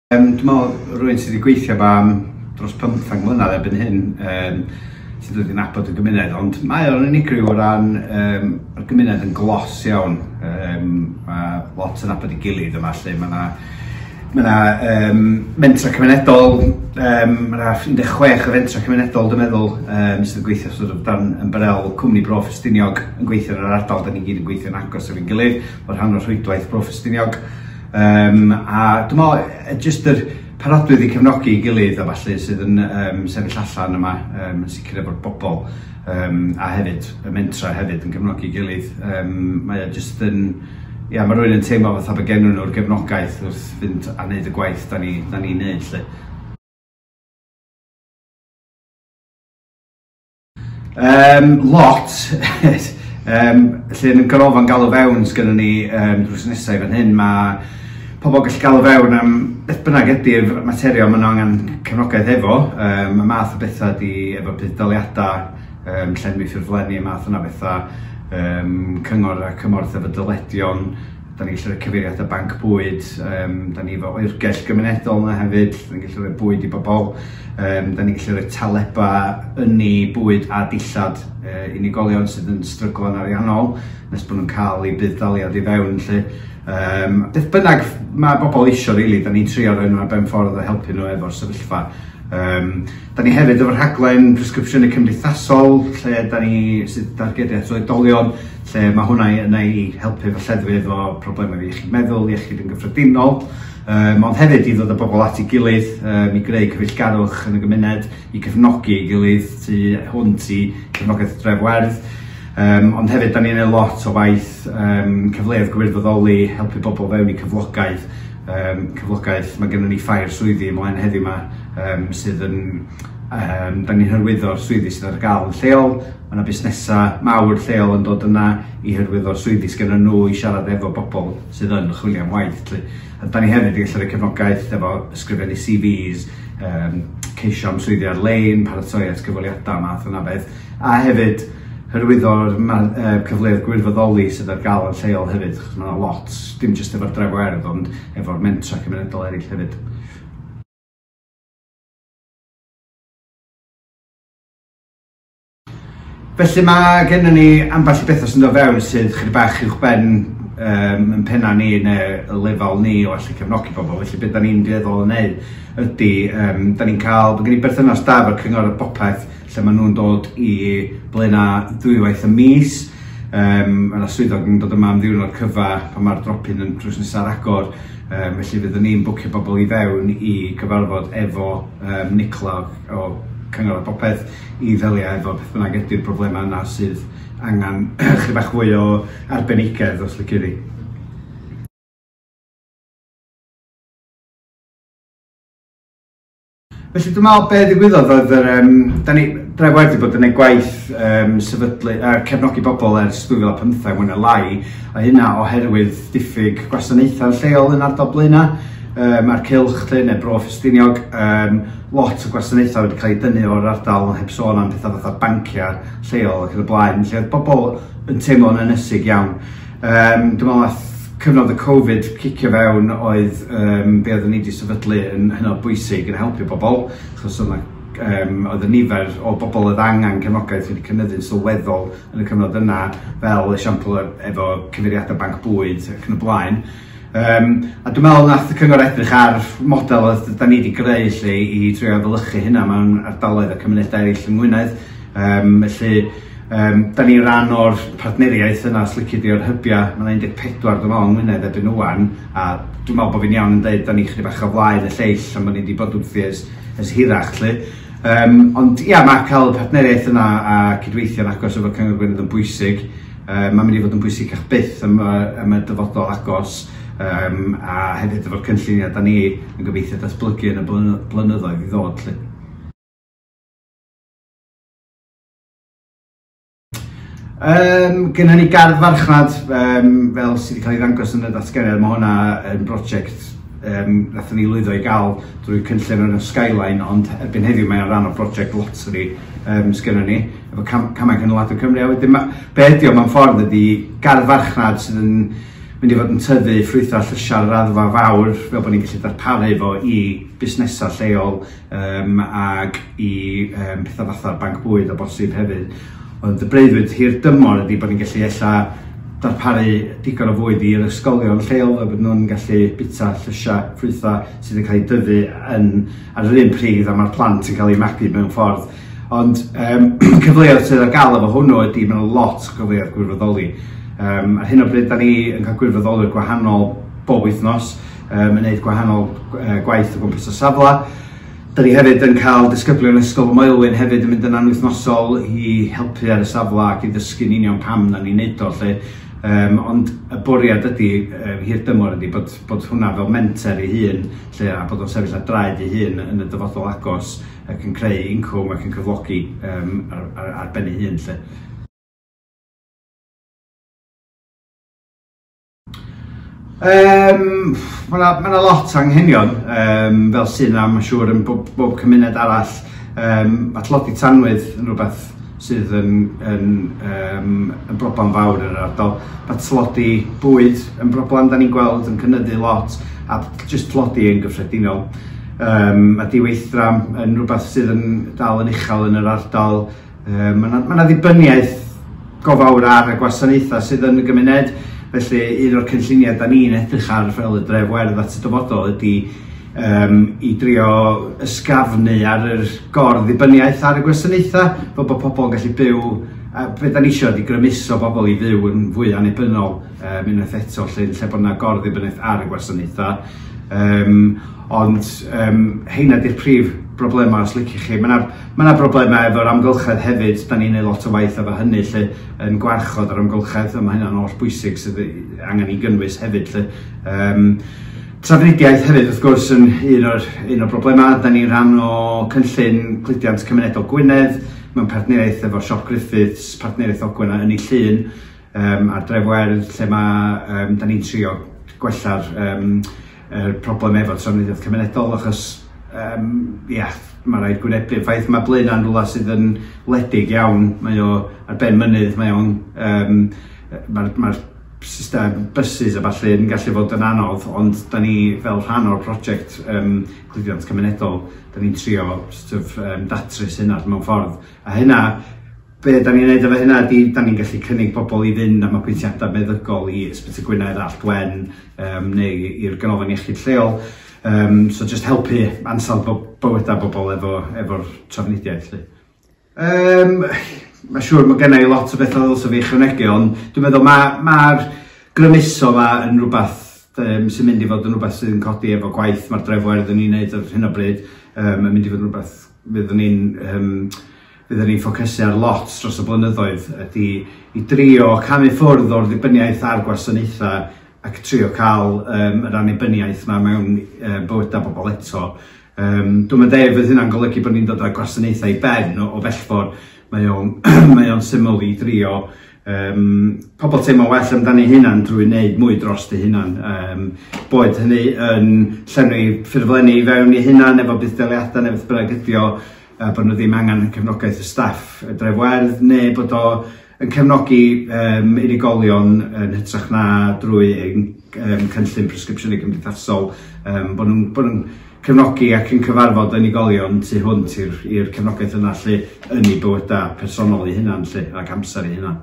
Dwi'n meddwl rhywun sydd wedi gweithio efo am dros 15 mlynedd erbyn hyn, sydd wedi nabod y gymuned, ond mae o'n unigryw o ran y gymuned yn glos iawn. Mae lot yn nabod ei gilydd yma, lle mae yna ma 'na, mentra cymunedol, mae yna 16 o fentra cymunedol, dwi'n meddwl, sydd yn gweithio sort of dan ymbarel Cwmni Bro Ffestiniog yn gweithio yn yr ardal. Da ni gyd yn gweithio'n agos efo'n gilydd, fel rhan o'r rhwydwaith Bro Ffestiniog. A dwi'n meddwl, jyst yr parodrwydd i cefnogi ei gilydd a falle sydd yn sefyll allan yma, yn sicr efo'r bobl, a hefyd y mentra hefyd yn cefnogi ei gilydd. Mae o jyst yn, ia, mae rhywun yn teimlo fatha bod gennyn nhw'r gefnogaeth wrth fynd a wneud y gwaith da ni'n da ni neud, 'lly. Lot. Lle yn y ganolfan galw fewn sgynnon ni drws nesaf i fan hyn, mae pobl gallu galw fewn am beth bynnag ydy'r materion maen nhw angen cefnogaeth efo. Y math o bethau ydy efo budd-daliadau, llenwi ffurflenni, y math yna bethau, cyngor a cymorth efo dyledion. Da ni'n gallu rhoi cyfeiriadau banc bwyd, da ni efo oergell gymunedol yna hefyd, da ni'n gallu rhoi bwyd i bobl, da ni'n gallu rhoi talebau ynni, bwyd a dillad unigolion sydd yn stryglo'n ariannol nes bod nhw'n cael eu budd-daliad i fewn, 'lly. Beth bynnag mae bobl isio, really, da ni'n trio rhoi nhw ar ben ffordd a helpu nhw efo'r sefyllfa. Da ni hefyd efo rhaglen presgripsiynau cymdeithasol, lle da ni sydd dargedu at oedolion, lle mae hwnna yna i helpu efo lleddfu efo problemau iechyd meddwl, iechyd yn gyffredinol, ond hefyd i ddod â bobl at ei gilydd, i greu cyfeillgarwch yn y gymuned, i cefnogi ei gilydd tu hwnt i cefnogaeth Dref Werdd. Ond hefyd, da ni'n gwneud lot o waith cyfleoedd gwirfoddoli, helpu bobl fewn i cyflogaeth. Cyflogaeth, mae gennym ni ffair swyddi ymlaen heddiw yma, sydd yn, da ni'n hyrwyddo'r swyddi sydd ar gael yn lleol. Mae yna busnesau mawr lleol yn dod yna i hyrwyddo'r swyddi sydd gennym nhw i siarad efo bobl sydd yn chwilio am waith, 'lly. A da ni hefyd yn gallu rhoi cefnogaeth efo ysgrifennu CVs, ceisio am swyddi ar-lein, paratoi at gyfweliadau, math yna beth. A hefyd hyrwyddo'r cyfleoedd gwirfoddoli sydd ar gael yn lleol hefyd, achos mae yna lot, dim jyst efo'r Dref Werdd, ond efo'r mentra cymunedol eraill hefyd. Felly mae gennym ni ambell i bethau sy'n dod fewn sydd chydig bach uwchben yn penna ni neu y lefel ni o allu cefnogi bobl. Felly beth da ni'n dueddol o wneud ydy, da ni'n cael, mae gen i berthynas da efo'r Cyngor ar Bopeth, lle maen nhw'n dod i Blaenau ddwywaith y mis. Mae yna swyddog yn dod yma am ddiwrnod cyfa pan mae'r drop-in yn drws nesaf ar agor. Felly fyddwn ni'n bwcio bobl i fewn i gyfarfod efo Nicola o Cyngor ar Bopeth i ddelio efo beth bynnag ydy'r broblemau yna sydd angen chydig bach fwy o arbenigedd, os lici di. Felly dwi'n meddwl be ddigwyddodd oedd yr, da ni, Dref Werdd wedi bod yn gwneud gwaith sefydlu a cefnogi bobl ers 2015 mwy neu lai, a hynna oherwydd diffyg gwasanaethau lleol yn ardal Blaenau, a'r cylch lle, neu Bro Ffestiniog, lot o gwasanaethau wedi cael eu dynnu o'r ardal, heb sôn am pethau fatha banciau lleol ac yn y blaen, lle oedd bobl yn teimlo'n ynysig iawn. Dwi'n meddwl nath cyfnod y Covid cicio fewn oedd be oeddwn ni wedi sefydlu yn hynod bwysig yn helpu bobl, achos oedd 'na, oedd y nifer o bobl oedd angen cefnogaeth wedi cynyddu'n sylweddol yn y cyfnod yna, fel esiampl efo cyfeiriadau banc bwyd ac yn y blaen. A dwi'n meddwl nath y cyngor edrych ar model oedd da ni wedi greu lle i trio efelychu hynna mewn ardaloedd a cymunedau eraill yng Ngwynedd. Felly da ni ran o'r partneriaeth yna, os lici di, o'r hybiau. Mae yna 14 dwi'n meddwl yng Ngwynedd erbyn ŵan, a dwi'n meddwl bod fi'n iawn yn dweud da ni chydig bach o flaen y lleill am bod ni wedi bod wrthi ers hirach, 'lly. Ond ia, mae cael y partneriaeth yna a cydweithio'n agos efo Cyngor Gwynedd yn bwysig. Mae'n mynd i fod yn bwysicach byth am y dyfodol agos, a hefyd efo'r cynlluniau da ni yn gobeithio datblygu yn y blynyddoedd i ddod, 'lly. Gynnon ni gardd farchnad, fel sydd wedi cael ei ddangos yn y datganiad. Mae hwnna yn brosiect nathon ni lwyddo i gael drwy cynllun o'r enw Skyline, ond erbyn heddiw mae'n rhan o brosiect lottery sgynnon ni efo Camau Cynaladwy Cymru. A wedyn be ydi o mewn ffordd ydi gardd farchnad sydd yn mynd i fod yn tyfu ffrwythau a llysiau ar raddfa fawr, fel bod ni'n gallu darparu fo i busnesau lleol ag i pethau fatha'r banc bwyd o bosib hefyd. Ond y breuddwyd hir dymor ydy bod ni'n gallu ella darparu digon o fwyd i'r ysgolion lleol, fel bod nhw'n gallu bita llysiau, ffrwythau sydd yn cael eu dyfu yn, ar yr un pryd a mae'r plant yn cael eu magu mewn ffordd. Ond cyfleoedd sydd ar gael efo hwnnw ydy mae'n lot o gyfleoedd gwirfoddoli. Ar hyn o bryd, da ni yn cael gwirfoddolwyr gwahanol bob wythnos, yn gwneud gwahanol gwaith o gwmpas y safle. Da ni hefyd yn cael disgyblion Ysgol Moelwyn hefyd yn mynd yna'n wythnosol i helpu ar y safle ac i ddysgu'n union pam na ni'n neud o 'lly. Ond y bwriad ydy, hir dymor ydy, bod hwnna fel menter ei hun, lle, a bod o'n sefyll ar draed ei hun yn y dyfodol agos ac yn creu incwm ac yn cyflogi ar ben ei hun. Lle. Mae yna ma lot o anghenion, fel sydd yna, mae'n siŵr, yn bob cymuned arall. Mae tlodi tanwydd yn rhywbeth sydd yn broblem fawr yn yr ardal. Mae tlodi bwyd yn broblem da ni'n gweld yn cynyddu lot, a jyst tlodi yn gyffredinol. Mae diweithdra yn rhywbeth sydd yn dal yn uchel yn yr ardal. Mae yna ma ddibyniaeth go fawr ar y gwasanaethau sydd yn y gymuned. Felly un o'r cynlluniau da ni'n edrych ar fel y Dref Werdd at y dyfodol ydy i drio ysgafnu ar yr gor-ddibyniaeth ar y gwasanaethau, fel bod pobl yn gallu byw, a be da ni isio ydy grymuso bobl i fyw yn fwy annibynnol unwaith eto, lle bod yna gor-ddibyniaeth ar y gwasanaethau. Ond heina di'r prif broblemau os liciwch chi. Mae yna ma broblemau efo'r amgylchedd hefyd, da ni'n neud lot o waith efo hynny lle, yn gwarchod yr amgylchedd, a mae hynna'n holl bwysig sydd angen i gynnwys hefyd. Lle. Trafnidiaeth hefyd wrth gwrs yn un o'r broblemau. Da ni'n rhan o cynllun cludiant cymunedol Gwynedd mewn partneriaeth efo Siop Griffiths, Partneriaeth Ogwen a Ynni Llŷn a'r Dref Werdd, lle mae da ni'n trio gwella'r yr problem efo trafnidiaeth cymunedol, achos ia, mae rhaid gwynebu'r ffaith mae Blaenau'n rhywle sydd yn wledig iawn, mae o ar ben mynydd, mae o'n mae'r ma system buses a ballu yn gallu fod yn anodd, ond da ni fel rhan o'r prosiect cludiant cymunedol, da ni'n trio sort of, datrys hynna mewn ffordd. A hynna, be da ni'n neud efo hynna ydy, da ni'n gallu cynnig pobl i fynd am apwyntiadau meddygol i Ysbyty Gwynedd, Allt Wen, neu i'r ganolfan iechyd lleol. So just helpu ansawdd bywydau bobl efo'r trafnidiaeth, lly. Mae'n siŵr mae gen i lot o bethau ddylse fi ychwanegu, ond dwi'n meddwl mae'r ma grymuso ma yn rhywbeth sy'n mynd i fod yn rhywbeth sydd yn codi efo gwaith mae'r Dref Werdd yn ei wneud ar hyn o bryd. Yn mynd i fod yn rhywbeth fyddwn ni'n ffocysu ar lot dros y blynyddoedd ydy i drio camu ffwrdd o'r ddibyniaeth ar gwasanaethau ac trio cael yr annibyniaeth yma mewn bywydau bobl eto. Dwi'n meddwl fydd hynna'n golygu bod ni'n dod â gwasanaethau i ben o bell ffordd. Mae o'n syml i drio pobl teimlo well amdano eu hunan drwy wneud mwy dros eu hunan. Boed hynny yn llenwi ffurflenni i fewn i hunan efo budd-daliadau neu beth bynnag ydi o, bod nhw ddim angen cefnogaeth y staff y Dref Werdd, neu bod o yn cefnogi unigolion yn hytrach na drwy ein cynllun presgripsiynu cymdeithasol, bod nhw'n cefnogi ac yn cyfarfod unigolion tu hwnt i'r cefnogaeth yna lle yn eu bywydau personol eu hunan lle, ac amser eu hunan.